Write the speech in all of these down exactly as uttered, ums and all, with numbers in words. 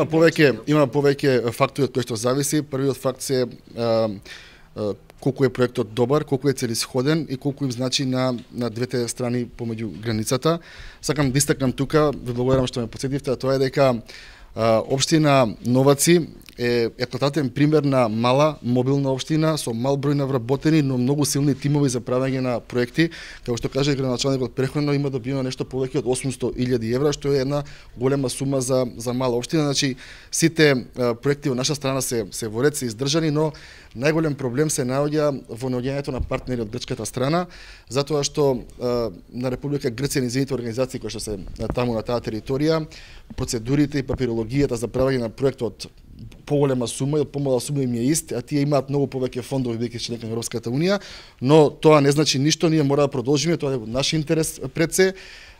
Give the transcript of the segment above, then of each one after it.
Повеќе, има повеќе фактори од кои што зависи. Првиот факт се а, а, колку е проектот добар, колку е целисходен и колку им значи на на двете страни помеѓу границата. Сакам да истакнам тука, ви благодарам што ме потсетивте, а тоа е дека а, општина Новаци е еклататен пример на мала мобилна општина со мал број на вработени, но многу силни тимови за правење на проекти. Како што каже градоначалникот претходно, има добиено нешто повеќе од осумсто илјади евра, што е една голема сума за за мала општина. Значи сите а, проекти во наша страна се се во ред, се издржани, но најголем проблем се наоѓа во наоѓањето на партнери од грчката страна, затоа што а, на Република Грција и низините организации кои што се таму на таа територија, процедурите и папирологијата за правење на проектот поголема сума и од помала сума им е ист, а тие имаат многу повеќе фондови бидејќи членка на Европската унија, но тоа не значи ништо, ние мора да продолжиме, тоа е во наш интерес пред се.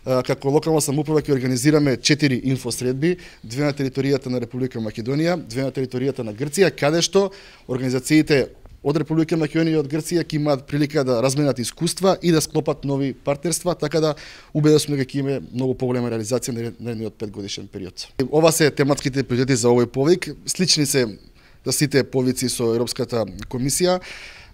Како локална самоуправа ќе организираме четири инфосредби, две на територијата на Република Македонија, две на територијата на Грција, каде што организациите од Република Македонија и од Грција ќе имаат прилика да разменат искуства и да склопат нови партнерства, така да убеден сум дека ќе има многу поголема реализација на наредниот петгодишен период. Ова се тематските приоритети за овој повик, слични се за сите повици со Европската комисија.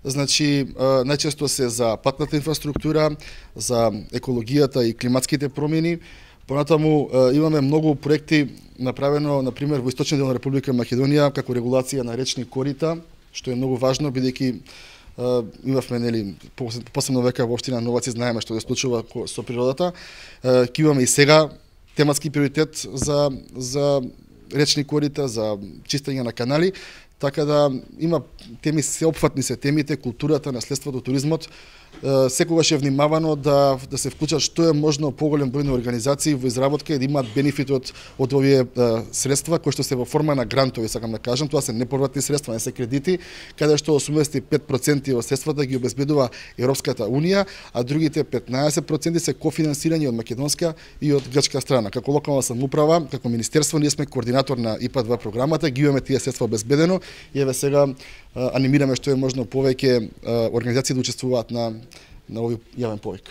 Значи, најчесто се за патната инфраструктура, за екологијата и климатските промени. Понатаму имаме многу проекти направено, на пример, во источниот дел на Република Македонија, како регулација на речни корита, што е многу важно, бидејќи имавме, нели, посебно века во општина Новаци, знаеме што се случува со природата. Ќе имаме и сега тематски приоритет за за речни корита, за чистење на канали, така да има теми, сеопфатни се темите, културата, наследството, туризмот. Секогаш е внимавано да да се вклучат што е можно поголем број на организации во изработка и да имаат бенефит од од овие а, средства кои што се во форма на грантови, сакам да кажам, тоа се неповратни средства, не се кредити, каде што осумдесет и пет проценти од средствата ги обезбедува Европската унија, а другите петнаесет проценти се кофинансирање од македонска и од грчка страна. Како локална самоуправа, како министерство, ние сме координатор на ИПА два програмата, ги имаме тие средства обезбедено и еве сега анимираме што е можно повеќе организации да учествуваат на на овој јавен повик.